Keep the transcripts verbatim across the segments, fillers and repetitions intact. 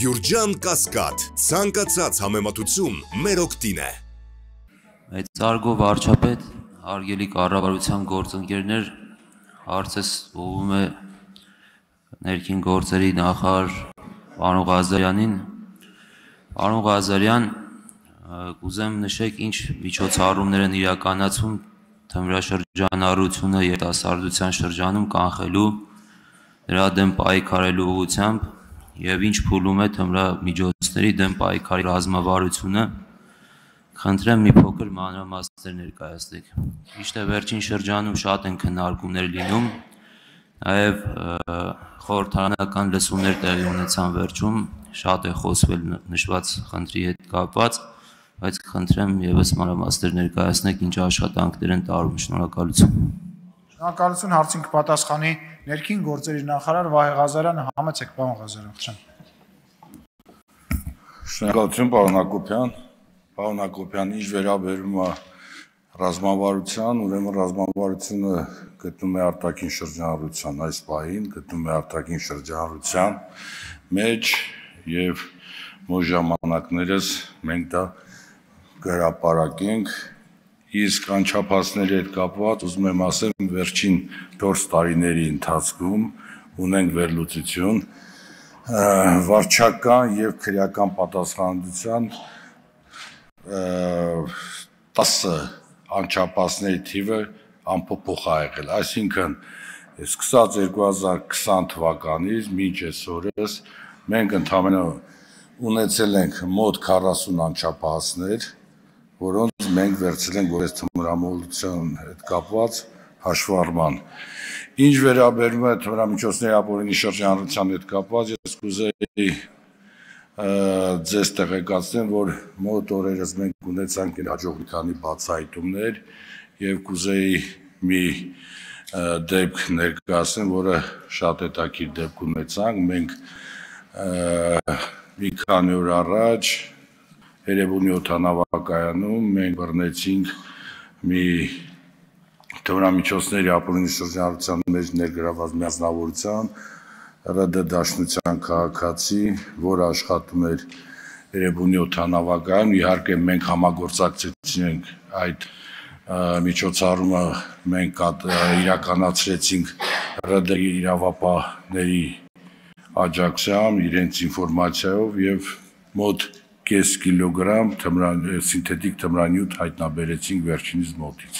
Գյուրջան Կասկադ, ցանկացած համեմատություն մեր օգտին է։ Մեծարգո վարչապետ, հարգելի կառավարության գործընկերներ, հարցս ուղղվում է ներքին գործերի նախարար պարոն Ղազարյանին։ Պարոն Ղազարյան, կուզեմ նշեք ինչ միջոցառումներ են իրականացում թմրաշրջանառությունը երիտասարդության շրջանում կանխելու, դրա դեմ պայքարելու ուղղությամբ եւ ինչ փուլում է թմրամիջոցների դեմ պայքարի ռազմավարությունը։ Խնդրեմ մի փոքր մանրամասներ ներկայացնեք։ Ճիշտ է, վերջին շրջանում շատ են քննարկումներ լինում, նաեւ խորհրդարանական լսումներ տեղի ունեցան վերջում, շատ է խոսվել նշված խնդրի հետ կապված, բայց խնդրեմ եւս մանրամասներ ներկայացնեք ինչ աշխատանքներ են տարում։ Շնորհակալություն։ Շնորհակալություն, հարցին կպատասխանի ներքին գործերի նախարար Վահե Ղազարյանը, համեցեք պարոն Ղազարյան, խնդրեմ։ Շնորհակալություն, պարոն Հակոբյան։ Պարոն Հակոբյան, ինչ վերաբերում է ռազմավարության, ուրեմն ռազմավարությունը գտնում է արտաքին շրջանառության այս պահին, գտնում է արտաքին շրջանառության մեջ եւ մոտ ժամանակներս մենք դա կհրապարակենք, իսկ անչափահասների հետ կապված ուզում եմ ասեմ վերջին չորս տարիների ընթացքում ունենք վերլուծություն վարչական եւ քրեական պատասխանատվության տասը անչափահասների թիվը անփոփոխ է եղել, այսինքն սկսած երկու հազար քսան թվականից մինչ այսօրս մենք ընդհանրապես ունեցել ենք մոտ քառասուն անչափահասներ, որոնց մենք վերցրել ենք որպես թմրամոլության հետ կապված հաշվառման։ Ինչ վերաբերում է թմրամիջոցների ապօրինի շրջանառության հետ կապված, ես կուզեի ձեզ տեղեկացնեմ, որ մոտ օրերս մենք ունեցանք հաջող մի քանի բացահայտումներ եւ կուզեի մի դեպք ներկայացնեմ, որը շատ հետաքրքիր դեպք ունեցանք։ Մենք մի քանի օր առաջ Երևանի օդանավակայանում մենք բռնեցինք մի թմրամիջոցների ապօրինի շրջանառության մեջ ներգրաված միանձնավորության ՌԴ Դաշնության քաղաքացի, որը աշխատում էր Երևանի օդանավակայանում, իհարկե մենք համագործակցեցինք այդ միջոցառումը, մենք իրականացրեցինք ՌԴ իրավապահների աջակցությամբ, իրենց ինֆորմացիայով եւ մոտ կես կիլոգրամ սինթետիկ թմրանյութ հայտնաբերեցինք վերջինիս մոտից։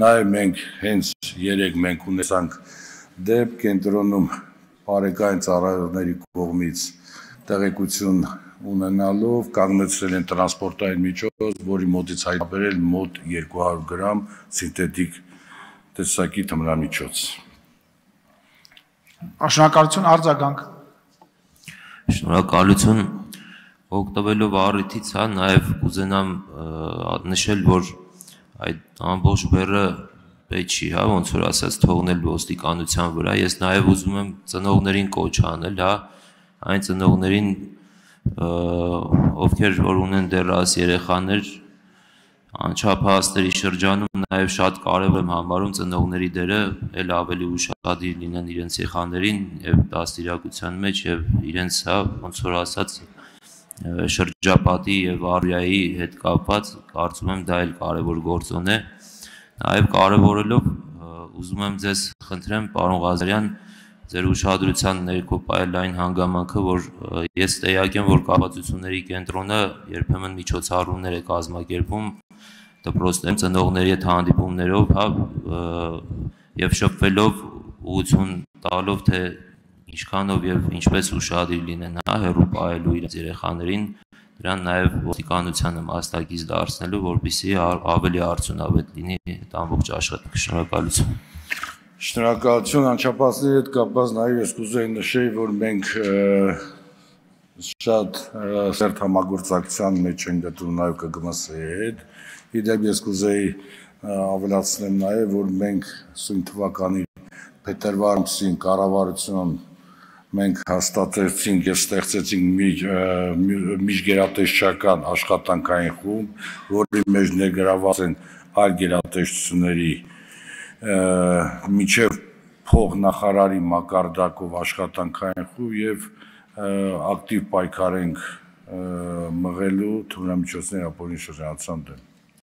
Նաեւ մենք հենց երեք մենք ունեցանք դեպք կենտրոնում բարեկային ծառայողների կողմից տեղեկություն ունենալով կանգնեցրել են տրանսպորտային միջոց, որի մոտից հայտնաբերել մոտ երկու հարյուր գրամ սինթետիկ տեսակի թմրամիջոց։ Շնորհակալություն, արձագանք։ Շնորհակալություն, օգտվելով առիթից, հա, նաեւ կուզենամ նշել, որ այդ ամբողջ բեռը պետք չի, հա, ոնց որ ասած թողնել ոստիկանության վրա։ Ես նաեւ ուզում եմ ծնողներին կոչ անել, հա, այն ծնողներին, ովքեր որ ունեն դեռահաս երեխաներ, անչափահասների շրջանում նաեւ շատ կարեւոր եմ համարում ծնողների դերը էլ ավելի ուշադիր լինեն իրենց երեխաներին եւ դաստիարակության մեջ եւ իրենց, հա, ոնց որ ասած շրջապատի եւ առիայի հետ կապված, կարծում եմ դա էլ կարեւոր գործոն է։ Նաեւ կարևորելով ուզում եմ ձեզ խնդրեմ, պարոն Ղազարյան, ձեր ուշադրության ներքո պահել այն հանգամանքը, որ ես տեղյակ եմ, որ կապացությունների կենտրոնը երբեմն միջոցառումներ է կազմակերպում դպրոցներում ծնողների հետ հանդիպումներով, հա, եւ շփվելով ուղղություն տալով, թե ինչքանով եւ ինչպես ուշադիր լինեն, հա, հեռու պահելու իրենց երեխաներին, դրան նաեւ ոստիկանությանը մասնակից դարձնելու, որպեսզի ավելի արդյունավետ լինի այդ ամբողջ աշխատանքը։ Շնորհակալություն։ Շնորհակալություն, անչափահասների հետ կապված նաեւ ես կուզեի նշել, որ մենք շատ սերտ համագործակցության մեջ ենք գտնվում նաեւ Կ Գ M S-ի հետ։ Իդեպ ես կուզեի ավելացնեմ նաեւ, որ մենք սույն թվականի փետրվար ամսին կառավարություն մենք հաստատեցինք եւ ստեղծեցինք միջգերատեսչական աշխատանքային խումբ, որի մեջ ներգրաված են այլ գերատեսչությունների միջև փոխնախարարի մակարդակով աշխատանքային խումբ եւ ակտիվ պայքար ենք մղելու թմրամիջոցների ապօրինի շրջանացման դեմ։